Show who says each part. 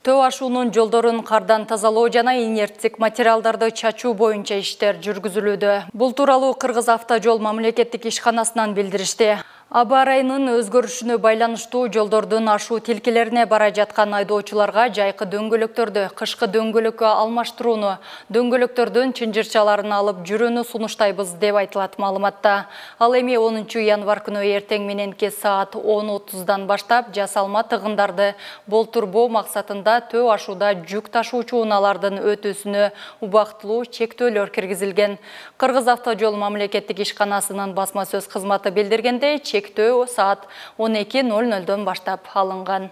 Speaker 1: Төө ашуунун жолдорун кардан тазалоо жана инерттик материалдарды чачуу боюнча иштер жүргүзүлүүдө. Бул тууралуу Кыргыз автожол мамлекеттик ишканасынан билдиришти. Аба ырайынын өзгөрүшүнө байланыштуу жолдордун ашуу тилкелерине бара жаткан айдоочуларга жайкы дөңгөлөктөрдү, кышкы дөңгөлөккө алмаштырууну, дөңгөлөктөрдүн чынжырчаларын алып жүрүүнү сунуштайбыз деп айтылат маалыматта. Ал эми 10 январь күнү эртең мененки саат 10:30 баштап жасалма тыгындарды болтурбоо максатында төө ашууда жүк ташуучу унаалардын өтүүсүнө убактылуу чектөөлөр киргизилген. Кыргыз автожол мамлекеттик ишканасынын басма сөз кызматы билдиргендей, чектөө саат 12:00 баштап алынган.